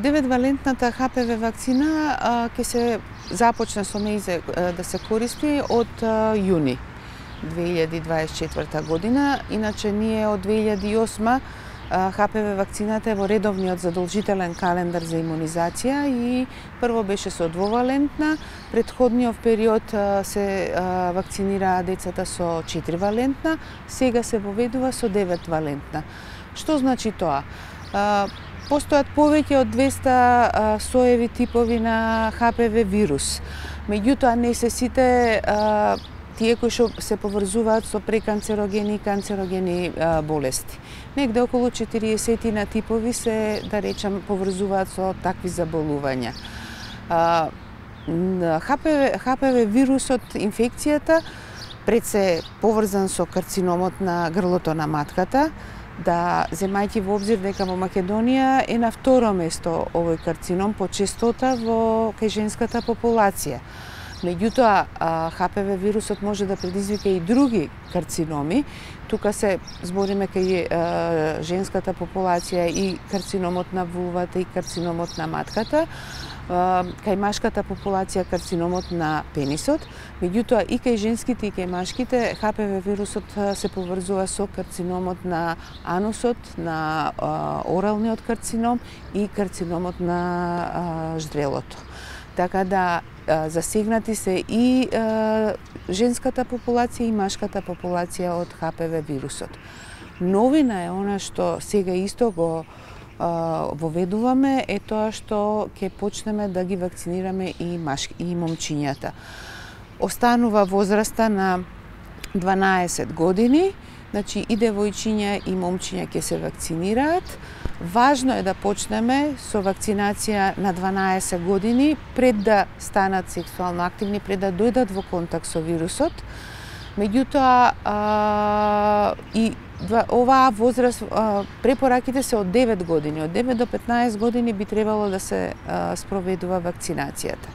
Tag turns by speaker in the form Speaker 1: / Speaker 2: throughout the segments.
Speaker 1: Деветвалентната ХПВ вакцина ќе се започне со нејзе да се користи од јуни 2024 година. Иначе ние од 2008 ХПВ вакцината е во редовниот задолжителен календар за имунизација и прво беше со двовалентна, претходниот период се вакцинираа децата со 4-валентна, сега се воведува со 9-валентна. Што значи тоа? Постојат повеќе од 200 соеви типови на ХПВ вирус. Меѓутоа не се сите тие кои што се поврзуваат со преканцерогени и канцерогени болести. Негде околу 40 на типови се, да речам, поврзуваат со такви заболувања. ХПВ вирусот, инфекцијата, пред се поврзан со карциномот на грлото на матката, да земајќи во обзир дека во Македонија е на второ место овој карцином по честота во кај женската популација. Меѓутоа, ХПВ вирусот може да предизвика и други карциноми. Тука се збориме кај женската популација и карциномот на вулвата и карциномот на матката, кај машката популација карциномот на пенисот. Меѓутоа и кај женските и кај машките ХПВ вирусот се поврзува со карциномот на анусот, на оралниот карцином и карциномот на ждрелото. Така да засегнати се и женската популација и машката популација од ХПВ вирусот. Новина е она што сега исто го воведуваме, е тоа што ќе почнеме да ги вакцинираме и момчињата. Останува возраста на 12 години, значи и девојчиња и момчиња ќе се вакцинираат. Важно е да почнеме со вакцинација на 12 години пред да станат сексуално активни, пред да дојдат во контакт со вирусот. Меѓутоа и оваа возраст, препораките се од 9 години. Од 9 до 15 години би требало да се спроведува вакцинацијата.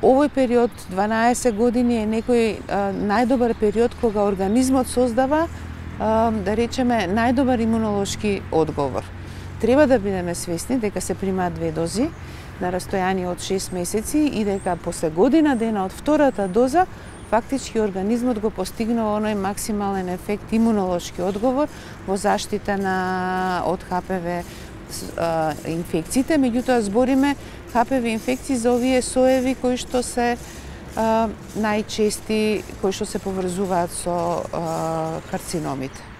Speaker 1: Овој период, 12 години, е некој најдобар период кога организмот создава, да речеме, најдобар имунолошки одговор. Треба да бидеме свесни дека се примаат 2 дози на растојание од 6 месеци и дека после година дена од втората доза фактички организмот го постигнува оној максимален ефект имунолошки одговор во заштита од ХПВ инфекциите. Меѓутоа збориме ХПВ инфекции за овие соеви кои што се најчести, кои што се поврзуваат со карциномите.